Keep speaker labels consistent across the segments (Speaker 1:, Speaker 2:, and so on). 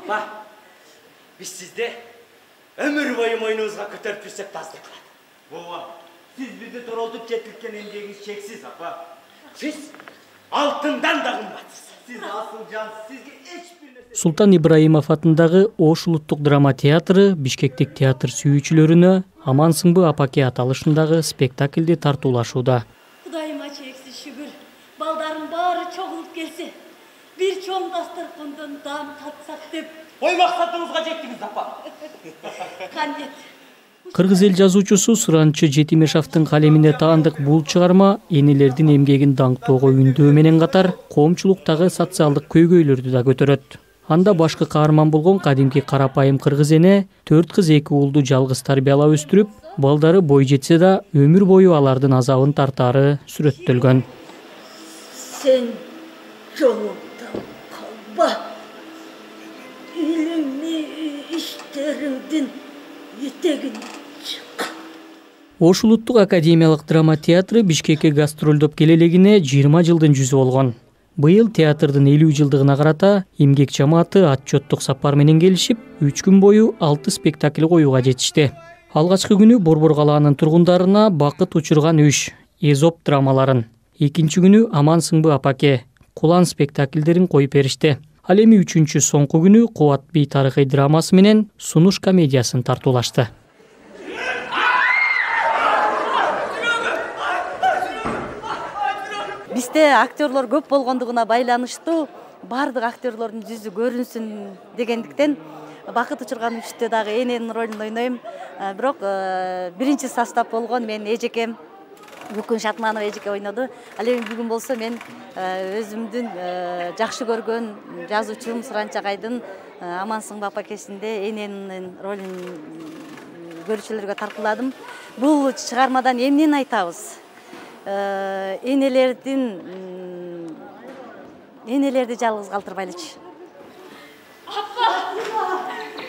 Speaker 1: Апа, biz sizde ömür boyu moynunuzga kötörüp bürsek de azdık kılады.
Speaker 2: Baba, siz bizi toroltup çetilken emgeginiz çeksiz apa.
Speaker 1: Siz altından da kımbatsız.
Speaker 2: Siz asıl can, sizge hiçbir nese...
Speaker 3: Султан Ибраимов атындагы Ош улуттук драма театры Бишкектик театр сүйүүчүлөрүнө Амансыңбы апаке аталышындагы спектакльди тартуулашууда.
Speaker 4: Кудайыма чексиз шүгүр, балдарын баары чогулуп келсе, бир чоң дастаркандан даам татсак деп.
Speaker 1: Ой максатыңызга жеттиңиз апа.
Speaker 4: Кандет.
Speaker 3: Кыргыз эл жазуучусу Сыранчы Жетимешовдун калемине таандык бул чыгарма энелердин эмгегин даңктоого үндөө менен катар коомчулуктагы социалдык көйгөйлөрдү да көтөрөт. Анда башкы каарман болгон кадимки карапайым кыргыз эне 4 кыз 2 уулду жалгыз тарбиялап өстүрүп, балдары бой жетсе да өмүр бою алардын азабын тартаары сүрөттөлгөн.
Speaker 4: Сен жолуңдан калба. Илимий иштериңдин этегин чык.
Speaker 3: Ош улуттук академиялык драма театры Бишкекке гастролдоп келелегине 20 жылдын жүзү болгон. Быйыл театрдын 50 жылдыгына карата эмгек жамааты отчеттук сапар менен келишип, 3 күн бою 6 спектакль коюуга жетишти. Алгачкы күнү Борбор калаанын тургундарына бакыт учурган үш, Эзоп драмаларын, экинчи күнү Амансыңбы апаке, Кулан спектакльдерин коюп беришти. Ал эми 3-чү соңку күнү Кубат би тарыхый драмасы менен Сунуш комедиясын тартуулашты.
Speaker 5: Бизде актерлор көп болгондугуна байланыштуу баардык актерлордун жүзү көрүнсүн дегендиктен бакыт учурган үчтө дагы эненин ролун ойнойм. Бирок биринчи состав болгон мен эжекем Бүкүн Шатманова эжеке ойноду. Ал эми бүгүн болсо мен өзүмдүн жакшы көргөн жазуучум Сыранчы Агайдын Амансыңбы апакесинде эненин ролун көрүүчүлөргө тартууладым. Бул чыгармадан эмнени айтабыз? Энелерди жалгыз калтырбайлычы.
Speaker 4: Апа!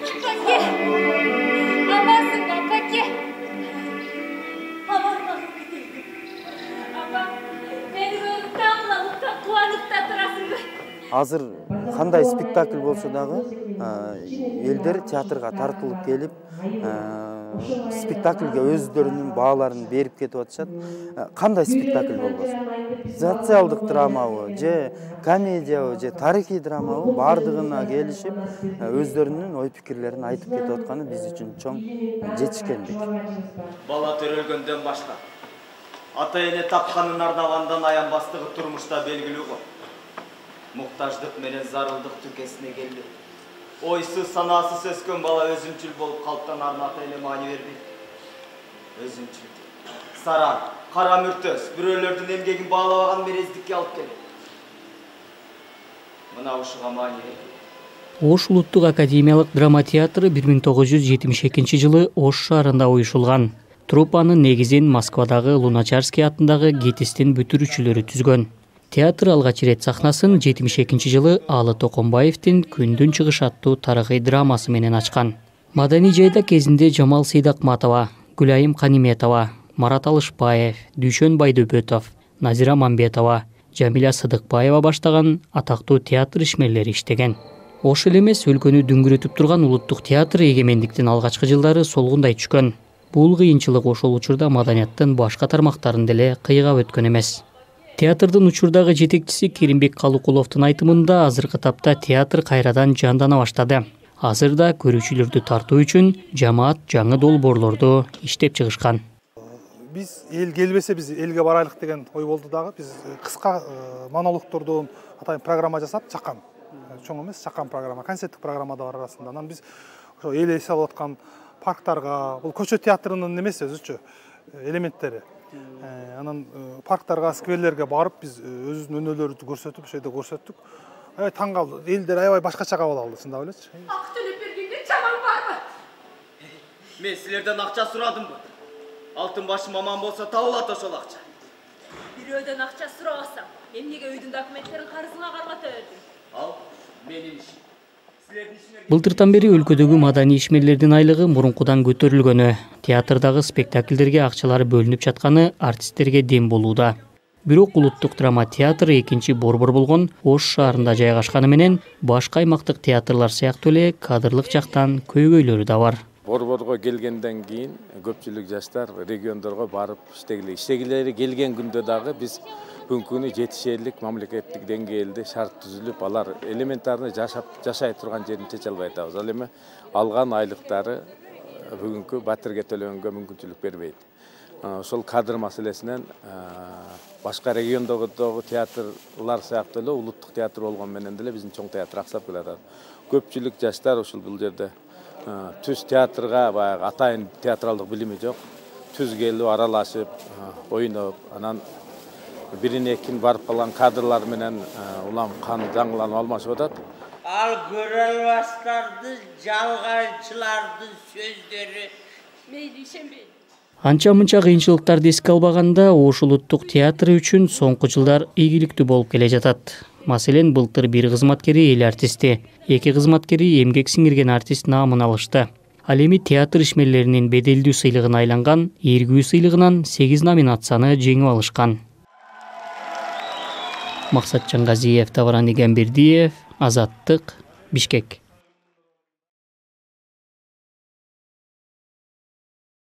Speaker 4: Апаке! Амансыңбы апаке!
Speaker 6: Азыр кандай спектакль болсо дагы элдер театрга тартылып келип, спектакльге өздөрүнүн бааларын берип кетип атышат. Кандай спектакль болбосун? Социалдык драмабы, же комедиябы, же тарыхый драмабы бардыгына келишип, өздөрүнүн ой пикирлерин айтып кетип атканы биз үчүн чоң жетишкендик.
Speaker 2: Бала төрөлгөндөн башка ата эне тапканын арнагандан аянбастыгы турмушта белгилүү го. Муктаждык менен зарылдык түкесине келди. Ойсу санаасыз өскөн бала өзүнчүл болуп калыптан ата эне маани бербейт. Өзүнчүл. Саран, кара мүртөс, бирөөлөрдүн эмгегин баалабаган мерездикке алып келет. Мына ушуга маани бербейт.
Speaker 3: Ош улуттук академиялык драма театры 1972 жылы Ош шаарында уюшулган. Труппанын негизин Москвадагы Луначарский атындагы ГИТИСтин бүтүрүүчүлөрү түзгөн. Театр алгач ирет сахнасын 72 жылы Алы Токомбаевдин Күндүн чыгышы аттуу тарыхый драмасы менен ачкан. Маданий жайда кезинде Жамал Сейдакматова, Гүлайым Каниметова, Марат Алышбаев, Дүйшөн Байдөбөтов, Назира Мамбетова, Жамиля Сыдыкбаева баштаган атактуу театр ишмерлери иштеген. Ош эле эмес, өлкөнү дүңгүрөтүп турган улуттук театр эгемендиктин алгачкы жылдары солгундай түшкөн. Бул кыйынчылык ошол учурда маданияттын башка тармактарын деле кыйгап өткөн эмес. Театрдын учурдагы жетекчиси Керимбек Калукуловдун айтымында азыркы тапта театр кайрадан жандана баштады. Азырда көрүүчүлөрдү тартуу үчүн жамаат жаңы долбоорлорду иштеп чыгышкан.
Speaker 7: Биз эл келбесе биз элге барайлык деген ой болду дагы. Биз кыска монологтордон атайын программа жасап чаккан. Чоң эмес, чаккан программа, концерттик программа да бар арасында. Анан биз ошо эл эс алып аткан парктарга, бул көчө театрынын эмеси өзүчө элементтери. Анан парктарга, скверлерге барып биз өзүбүздүн өнөөлөрүбүздү көрсөтүп, ошол жерде көрсөттүк. Аябай таң калды. Элдер аябай башкача кабыл алды, чындап элечи.
Speaker 4: Ак төлөп бергенде жаман барбы?
Speaker 2: Мен силерден акча сурадымбы? Алтын башым аман болсо табылат ошол акча.
Speaker 4: Бирөөдөн акча сурабасам, эмнеге үйдүн документтерин карызыңа кармата бердиң?
Speaker 2: Ал менин ишим.
Speaker 3: Былтыртан бери өлкөдөгү маданий ишмерлердин айлыгы мурункудан көтөрүлгөнү, театрдагы спектакльдерге акчалары бөлүнүп жатканы артисттерге дем болууда. Бирок улуттук драма театры экинчи борбор болгон Ош шаарында жайгашканы менен башка аймактык театрлар сыяктуу эле кадрлык жактан көйгөйлөрү да бар.
Speaker 8: Борборго келгенден кийин көпчүлүк жаштар региондорго барып иштегилери келген күндө дагы биз бүгүнкү күнү жетишерлик мамлекеттик деңгээлде шарт түзүлүп, алар элементарный жашай турган жерин чече албай атабыз. Ал эми алган айлыктары бүгүнкү батирге төлөнгөнгө мүмкүнчүлүк бербейт. Ошол кадр маселесинен башка региондогу театрлар сыяктуу эле улуттук театр болгон менен деле биздин чоң театр аксап келатат. Көпчүлүк жаштар ушул бул жерде түз театрга баягы атайын театралдык билими жок. Түз келип аралашып, ойноп, анан бирине экин барып калган кадрлар менен улам жаңыланып алмашып атат.
Speaker 1: Ал көрө албастарды, жалганчылардын сөздөрү мейли ишенбейм.
Speaker 3: Анча-мынча кыйынчылыктарды эске албаганда Ош улуттук театры үчүн соңку жылдар ийгиликтүү болуп келе жатат. Маселен, былтыр бир кызматкери эл артисти, эки кызматкери эмгек сиңирген артист наамын алышты. Ал эми театр ишмерлеринин беделдүү сыйлыгына айланган Эргүү сыйлыгынан 8 номинацияны жеңип алышкан. Максатжан Газиев, Тавран Игенбердиев, Азаттык, Бишкек.